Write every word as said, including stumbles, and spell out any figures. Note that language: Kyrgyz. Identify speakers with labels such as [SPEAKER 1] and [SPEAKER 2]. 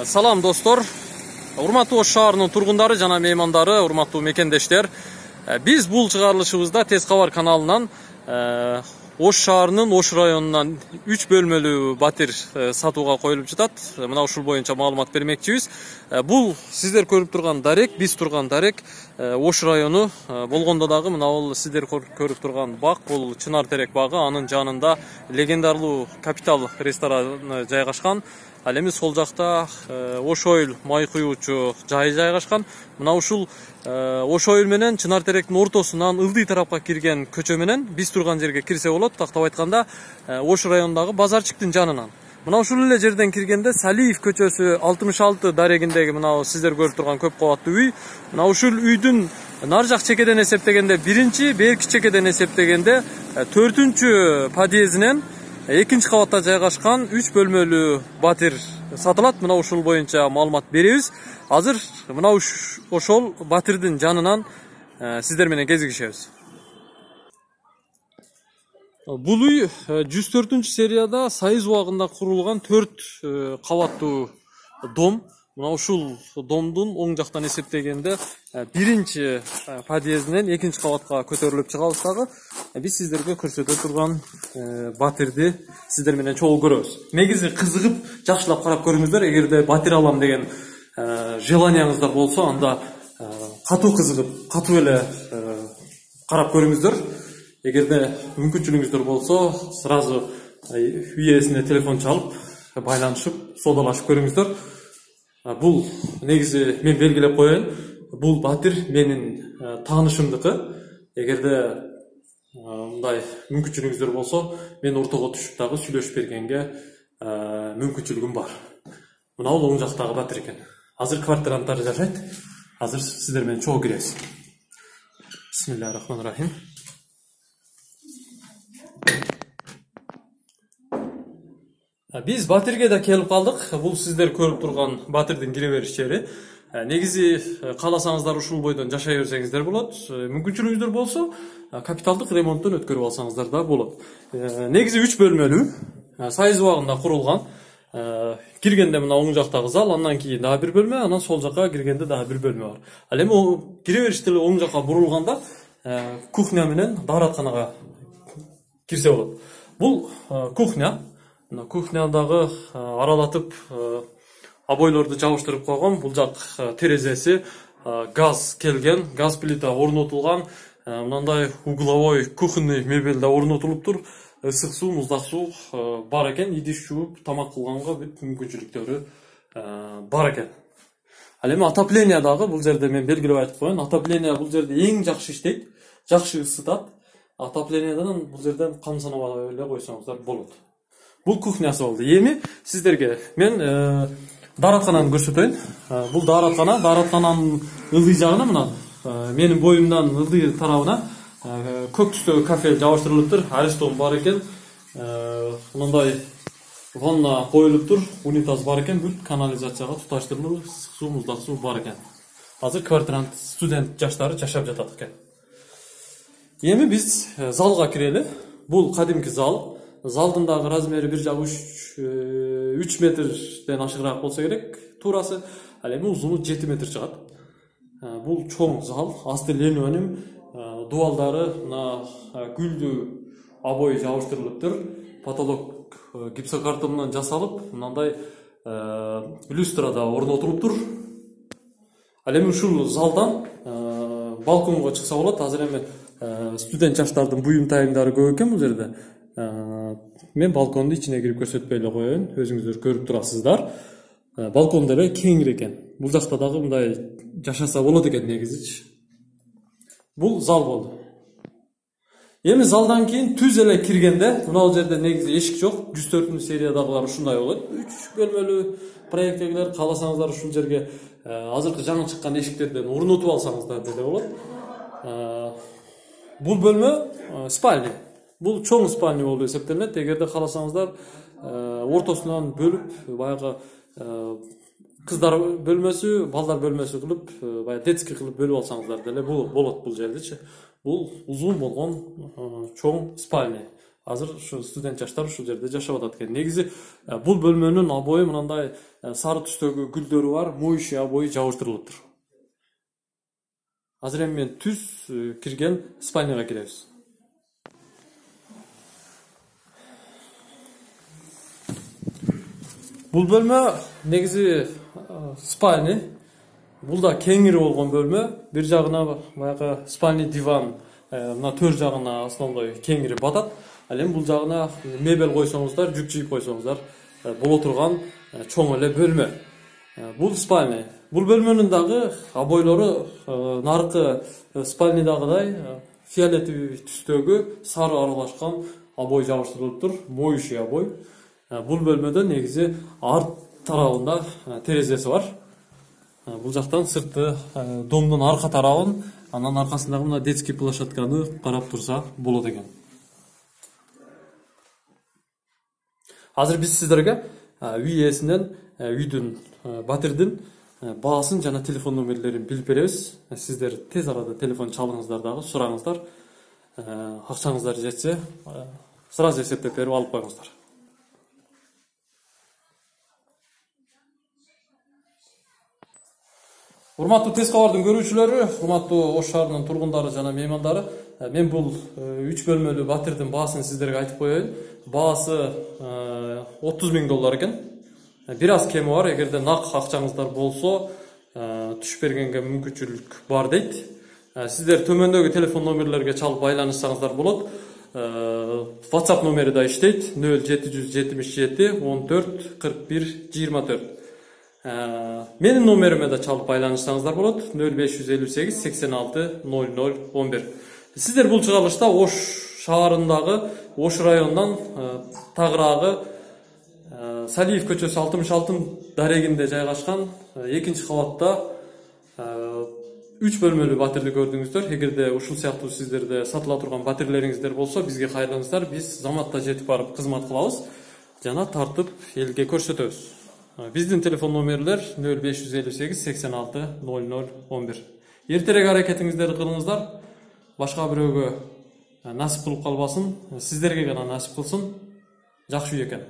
[SPEAKER 1] Салам достор, урматтуу Ош шаарынын тургундары жана меймандары, урматтуу мекендештер. Биз бул чыгарылышыбызда Тез кабар каналынан Ош шаарынын Ош районунан үч бөлмөлүү батир сатууга коюлуп жатат. Мына ушул боюнча маалымат бермекчибиз. Бул сиздер көрүп турган дарек, биз турган дарек Ош району болгондо дагы мына бул сиздер көрүп турган бак, бул Чынар терек багы, анын жанында легендарлуу Капитал рестораны жайгашкан. Ал эми сол жакта Ош Ойл май куюучу жайы жайгашкан. Мына ушул Ош Ойл менен Чынар теректин ортосунан ылдый тарапка кирген көчө менен биз турган жерге кирсе болот. Тактап айтканда Ош районундагы базарчыктын жанынан. Мына ушул эле жерден киргенде Салиев көчөсү алтымыш алты дарегиндеги мына сиздер көрүп турган көп кабаттуу үй. Мына ушул үйдүн нар жак чекеден эсептегенде биринчи, берки чекеден эсептегенде төртүнчү подъездинен экинчи кабатта жайгашкан үч бөлмөлүү батир сатылат. Мына ушул боюнча маалымат беребиз. Азыр мына ошол батирдин жанынан сиздер менен кезигишебиз. Бул үй жүз төртүнчү серияда Союз убагында курулган төрт кабаттуу дом. Мына ушул домдун оң жактан эсептегенде биринчи подъездинен экинчи кабатка көтөрүлүп чыгабыз дагы. Биз сиздерге көрсөтө турган батирди сиздер менен чогуу көрөбүз. Негизи кызыгып, жакшылап карап көрүңүздөр. Эгерде батир алам деген желанияңыздар болсо, анда катуу кызыгып, катуу эле карап көрүңүздөр. Эгерде мүмкүнчүлүгүңүздөр болсо, сразу үй ээсине телефон чалып, байланышып, соодалашып көрүңүздөр. Бул негизи мен белгилеп коеюн. Бул батир менин таанышымдыкы. Эгерде мындай мүмкүнчүлүгүңүздөр болсо, мен ортого түшүп дагы сүйлөшүп бергенге мүмкүнчүлүгүм бар. Мына бул оң жактагы батир экен. Азыр квартиранттар жашайт. Азыр сиздер менен чогуу киребиз. Бисмиллахир-рахманир-рахим. Биз батирге да келип калдык. Бул сиздер көрүп турган батирдин кире бериш жери. Негизи кааласаңыздар ушул бойдон жашай берсеңиздер болот. Мүмкүнчүлүгүңүздөр болсо, капиталдык ремонттон өткөрүп алсаңыздар да болот. Негизи үч бөлмөлүү, Союз убагында курулган. Киргенде мына оң жактагы зал, андан кийин дагы бир бөлмө, анан сол жакка киргенде дагы бир бөлмө бар. Ал эми кире бериште оң жакка бурулганда кухня менен дааратканага кирсе болот. Бул кухня. Мына кухнядагы аралатып обойлорду жабыштырып койгон. Бул жак терезеси, газ келген, газ плита орнотулган. Мындай угловой кухонный мебель да орнотулуптур. Ысык суу, муздак суу бар экен. Идиш жууп, тамак кылганга бүт мүмкүнчүлүктөрү бар экен. Ал эми отопление дагы бул жерде мен белгилеп айтып коеюн. Отопление бул жерде эң жакшы иштейт, жакшы ысытат. Отоплениеден бул жерден кам санабай эле койсоңуздар болот. Бул кухнясы болду. Эми сиздерге мен даараткананы көрсөтөйүн. Бул даараткана, даараткананын ылдый жагына мына менин боюмдан ылдый тарабына көк түстөгү кафе жабыштырылыптыр. Аристон бар экен. Мындай ванна коюлуптур, унитаз бар экен, бүт канализацияга туташтырылып, суу, муздак суу бар экен. Азыр квартирант, студент жаштары жашап жатат экен. Эми биз залга кирели. Бул кадимки зал. Залдын дагы размери бир жагы үч метрден ашыгыраак болсо керек туурасы. Ал эми узуну жети метр чыгат. Бул чоң зал, асты линолеум, дубалдары мына гүлдүү обой жабыштырылыптыр. Потолок гипсокартондон жасалып, мындай люстра да орнотулуптур. Ал эми ушул залдан балконго чыкса болот. Азыр эми студент жаштардын буюм тайымдары көп экен бул жерде. Мен балкондун ичине кирип көрсөтпөй эле коеюн, өзүңүздөр көрүп турасыздар. Балкон деле кеңир экен. Бул жакта дагы мындай жашаса болот экен негизичи. Бул зал болду. Эми залдан кийин түз эле киргенде, мына бул жерде негизи эшик жок. жүз төртүнчү сериядагылар ушундай болот. үч бөлмөлүү проекттегилер кааласаңыздар ушул жерге азыркы жаңы чыккан эшиктерден орнотуп алсаңыздар деле болот. Бул бөлмө спальня. Бул чоң спальня болуп эсептелет. Эгерде кааласаңыздар ортосунан бөлүп, баягы кыздар бөлмөсү, балдар бөлмөсү кылып, баягы детский кылып бөлүп алсаңыздар деле болот бул жердечи. Бул узун болгон чоң спальня. Азыр ушу студент жаштар ушул жерде жашап атат экен. Негизи бул бөлмөнүн обою мындай сары түстөгү гүлдөрү бар, моющий обой жабыштырылыптыр. Азыр эми мен түз кирген спальняга киребиз. Бул бөлмө негизи спальня. Бул да кеңири болгон бөлмө. Бир жагына баягы спальня диван, мына төр жагына основной кеңири батат. Ал эми бул жагына мебель койсоңуздар, жүк жыйып койсоңуздар боло турган чоң эле бөлмө. Бул спальня. Бул бөлмөнүн дагы обойлору наркы спальнядагыдай фиолетовый түстөгү сары аралашкан обой жабыштырылыптыр, моющий обой. Бул бөлмөдө негизи арт тарабында терезеси бар. Бул жактан сыртты домдун арка тарабын, анан аркасындагы мына детский площадканы карап турса болот экен. Азыр биз сиздерге үй ээсинен үйдүн, батирдин баасын жана телефон номерлерин билип беребиз. Сиздер тез арада телефон чалыңыздар дагы, сураңыздар. Акчаңыздар жетсе, сразу эсептеп берип алып коюңуздар. Урматтуу Тез кабардын көрүүчүлөрү, урматтуу Ош шаарынын тургундары жана меймандары, мен бул үч бөлмөлүү батирдин баасын сиздерге айтып коеюн. Баасы отуз миң доллар экен. Бир аз кеми бар, эгерде нак акчаңыздар болсо, түшүп бергенге мүмкүнчүлүк бар дейт. Сиздер төмөндөгү телефон номерлерге чалып байланышсаңыздар болот. WhatsApp номери да иштейт: нөл жети жүз жетимиш жети он төрт кырк бир жыйырма төрт. Менин номериме да чалып байланышсаңыздар болот: нөл беш жүз элүү сегиз сексен алты ноль ноль он бир. Сиздер бул чыгарылышта Ош шаарындагы, Ош районунан тагыраагы Салиев көчөсү алтымыш алты дарегинде жайгашкан экинчи кабатта үч бөлмөлүү батирди көрдүңүздөр. Эгерде ушул сыяктуу сиздерде сатыла турган батирлериңиздер болсо, бизге кайрылыңыздар. Биз заматта жетип барып кызмат кылабыз жана тартып элге көрсөтөбүз. Биздин телефон номерлер нөл беш жүз элүү сегиз сексен алты ноль ноль он бир. Эртерээк аракетиңиздерди кылыңыздар. Башка бирөөгө насип кылып калбасын, сиздерге гана насип кылсын. Жакшы үй экен.